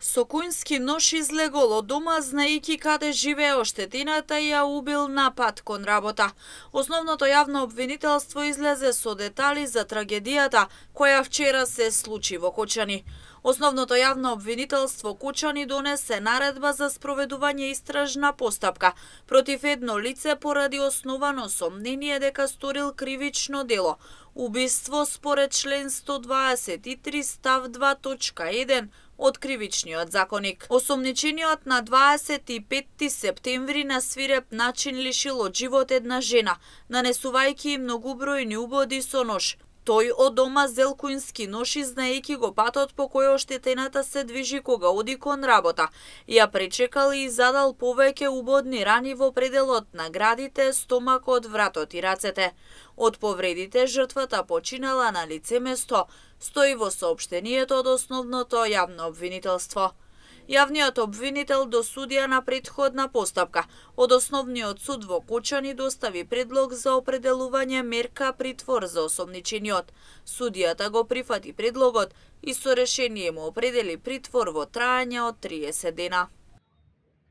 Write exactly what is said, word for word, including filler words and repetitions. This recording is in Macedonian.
Со кујнски нож излегол од дома, знаејќи каде живее оштетената и ја убил на пат кон работа. Основното јавно обвинителство излезе со детали за трагедијата која вчера се случи во Кочани. Основното јавно обвинителство Кочани донесе наредба за спроведување истражна постапка против едно лице поради основано сомнение дека сторил кривично дело – убиство според член сто дваесет и три став два точка еден од Кривичниот законик. Осомничениот на дваесет и петти септември на свиреп начин лишил од живот една жена, нанесувајќи многубројни убоди со нож. Тој од дома зел кујнски нож и знаејќи го патот по кој оштетената се движи кога оди кон работа. Ја пречекал и задал повеќе убодни рани во пределот на градите, стомакот, вратот и рацете. Од повредите жртвата починала на лице место, стои во соопштението од основното јавно обвинителство. Јавниот обвинител до судија на претходна постапка од Основниот суд во Кочани достави предлог за определување мерка притвор за осомничениот. Судијата го прифати предлогот и со решение му определи притвор во траење од триесет дена.